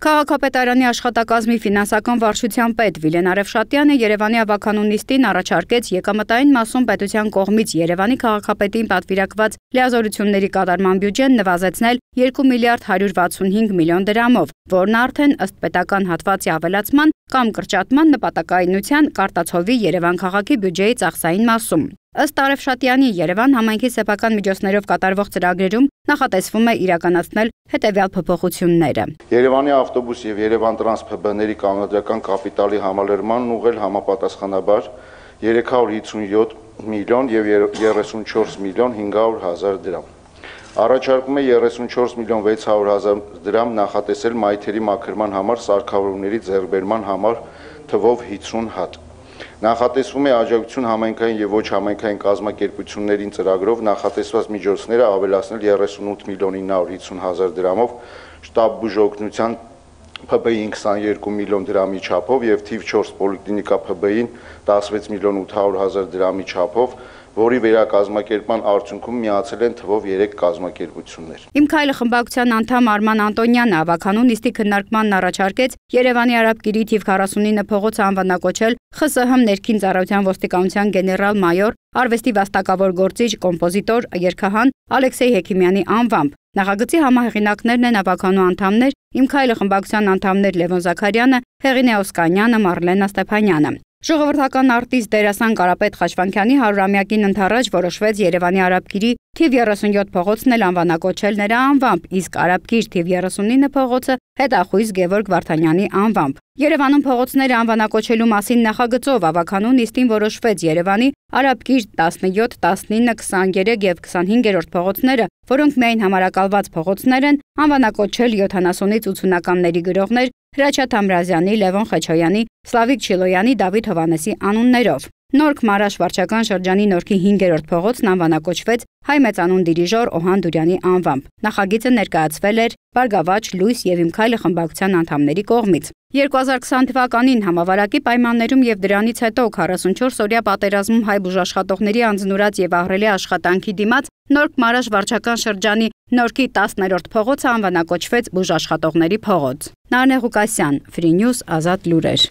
Քաղաքապետարանի աշխատակազմի ֆինանսական վարչության պետ Վիլեն Արևշատյանը Երևանի ավականու նիստին առաջարկեց եկամտային մասում պետության կողմից Երևանի քաղաքապետին պատվիրակված լիազորությունների կատարման բյուջեն նվազեցնել 2 միլիարդ 165 միլիոն դրամով, որն արդեն ըստ պետական հատվածի ավելացման կամ կրճատման նպատակայնության կարտացովի Երևան քաղաքի բյուջեի ծախսային մասում։ Ըստ Արևշատյանի Երևան համայնքի սեփական միջոցներով կատարվող ծրագրերում նախատեսվում է իրականացնել հետևյալ փոփոխությունները. Երևանի ավտոբուս եւ Երևան տրանս ՓԲ-ների կանոնադրական կապիտալի համալրմանն ուղղել համապատասխանաբար 357 միլիոն եւ 34 միլիոն 500 հազար դրամ։ Առաջարկում է 34 միլիոն 600 հազար դրամ նախատեսել մայթերի մաքրման համար սարքավորումների ձեռքբերման համար թվով 50 հատ։ Նախատեսվում է աջակցություն համայնքային եւ ոչ համայնքային կազմակերպություններին ծրագրով նախատեսված միջոցները ավելացնել 38 միլիոն 950 հազար դրամով, շտաբ բուժօգնության ՓԲ-ին 22 միլիոն դրամի չափով եւ թիվ 4 պոլիկլինիկա ՓԲ-ին 16 միլիոն 800 հազար դրամի չափով, որի վերակազմակերպման արդյունքում միացել են թվով 3 կազմակերպություններ։ Իմ քայլը խմբակցության անդամ Արման Անտոնյանը ավականու նիստի քննարկմանն առաջարկեց Երևանի Արաբկիրի թիվ 49 փողոցը անվանակոչել ԽՍՀՄ ներքին ծառայության ոստիկանության գեներալ-մայոր, արվեստի վաստակավոր գործիչ, կոմպոզիտոր, երգահան Ալեքսեյ Հեքիմյանի անվամբ։ Նախագծի համահեղինակներն են ավականու անդամներ, Իմ քայլը խմբակցության անդամներ Լևոն Զաքարյանը, Հեղինե Օսկանյանը, Մարլենա Ստեփանյանը։ Ժողովրդական արտիստ դերասան Կարապետ Խաչվանքյանի 100-ամյակին ընթառաջ որոշվեց Երևանի Արաբկիրի թիվ 37 փողոցն էլ անվանակոչել նրա անվամբ, իսկ Արաբկիր թիվ 39 փողոցը հետախույզ Գևորգ Վարդանյանի անվամբ։ Երևանում փողոցները անվանակոչելու մասին նախագծով ավականու նիստին որոշվեց Երևանի Արաբկիր 17, 19, 23 եւ 25-րդ փողոցները, որոնք միայն համարակալված փողոցներ են, անվանակոչել 70-ից 80-ականների գրողներ Հրաչյա Թամրազյանի, Լևոն Խեչոյանի, Սլավիկ Չիլոյանի, Դավիթ Հովհաննեսի անուններով։ Նորք Մարաշ վարչական շրջանի Նորքի 5-րդ փողոցն անվանակոչվեց հայ մեծանուն դիրիժոր Օհան Դուրյանի անվամբ։ Նախագիծը ներկայացվել էր Բարգավաճ, Լույս եւ Իմ քայլը խմբակցության անդամների կողմից։ 2020 թվականին համավարակի պայմաններում եւ դրանից հետո 44-օրյա պատերազմում հայ բուժաշխատողների անձնուրաց եւ ահռելի աշխատանքի դիմաց Նորք Մարաշ վարչական շրջանի Նորքի 10-րդ փողոցը անվանակոչվեց բուժաշխատողների փողոց։ Նարնե Ղուկասյան, Free News, Ազատ լուրեր։